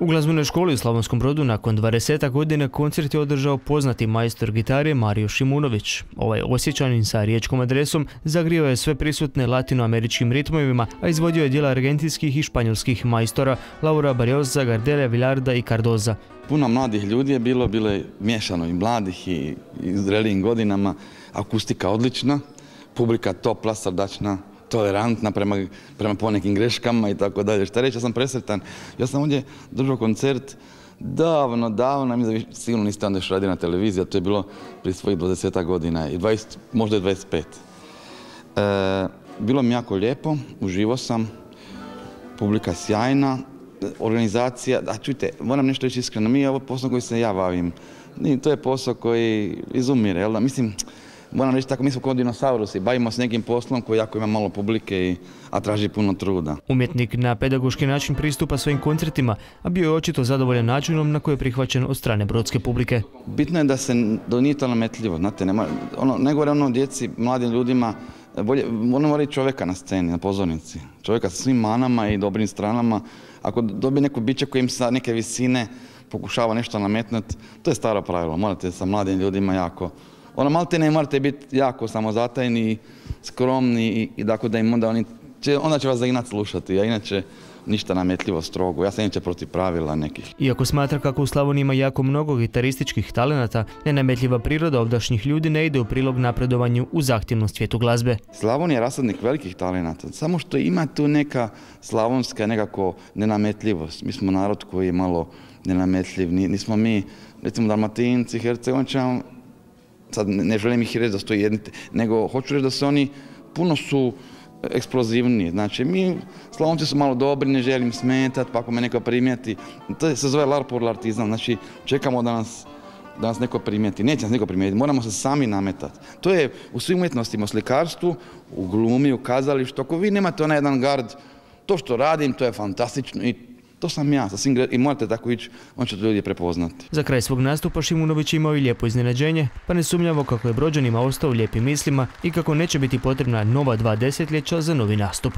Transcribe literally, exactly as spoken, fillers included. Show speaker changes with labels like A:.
A: U glazbenoj školi u Slavonskom Brodu nakon dvadesetak godina koncert je održao poznati majstor gitare Mario Šimunović. Ovaj Osječanin sa riječkom adresom zagrijao je sve prisutne latinoameričkim ritmovima, a izvodio je djela argentinskih i španjolskih majstora Laura Barrioza, Gardela, Villarda i Cardoza.
B: Puno mladih ljudi je bilo, bilo je miješano i mladih i, i zrelijim godinama, akustika odlična, publika topla, srdačna, tolerantna prema, prema ponekim greškama i tako dalje. Šta reći, ja sam presretan. Ja sam ovdje držao koncert davno, davno, mislim da sigurno niste onda još radio na televiziji, a to je bilo prije svojih dvadesetak godina, i dvadeset, možda i dvadeset pet. E, bilo mi jako lijepo, uživo sam, publika sjajna, organizacija, a čujte, moram nešto reći iskreno, mi je ovo posao koji se ja bavim, to je posao koji izumire, jel da? Mislim, moram reći tako, mi smo kao dinosaurusi, bavimo se nekim poslom koji jako ima malo publike, i, a traži puno truda.
A: Umjetnik na pedagoški način pristupa svojim koncertima, a bio je očito zadovoljan načinom na koji je prihvaćen od strane brodske publike.
B: Bitno je da se da nije to nametljivo, znate, nema, ono, ne govore ono djeci, mladim ljudima, bolje, ono mora i čovjeka na sceni, na pozornici. Čovjeka sa svim manama i dobrim stranama. Ako dobije neko biće koji im sa neke visine pokušava nešto nametnuti, to je staro pravilo, morate sa mladim ljudima jako. Ono, malte ne morate biti jako samozatajni, skromni i, i tako da im onda oni će, onda će vas zaginat slušati, a inače ništa nametljivo, strogo. Ja sam inače protiv pravila nekih.
A: Iako smatra kako u Slavoniji ima jako mnogo gitarističkih talenata, nenametljiva priroda ovdašnjih ljudi ne ide u prilog napredovanju u zahtjevnom svijetu glazbe.
B: Slavonija je rasadnik velikih talenata, samo što ima tu neka slavonska nekako nenametljivost. Mi smo narod koji je malo nenametljiv, nismo mi, recimo Dalmatinci, Hercegovčani, sad ne želim ih reći da stoji jedni, nego hoću reći da se oni puno su eksplozivniji. Znači, mi Slavonci su malo dobri, ne želim smetati, pa ako me neko primijeti, to se zove larpurlartizam, znači čekamo da nas, da nas neko primijeti. Neće nas neko primijeti, moramo se sami nametati. To je u svim umjetnostima, u slikarstvu, u glumi, u kazalištu. Ako vi nemate onaj jedan gard, to što radim, to je fantastično i to sam ja, i morate tako ići, on će to ljudi prepoznati.
A: Za kraj svog nastupa Šimunović imao i lijepo iznenađenje, pa ne sumnjavo kako je Brođanima ostao u lijepim mislima i kako neće biti potrebna nova dva desetljeća za novi nastup.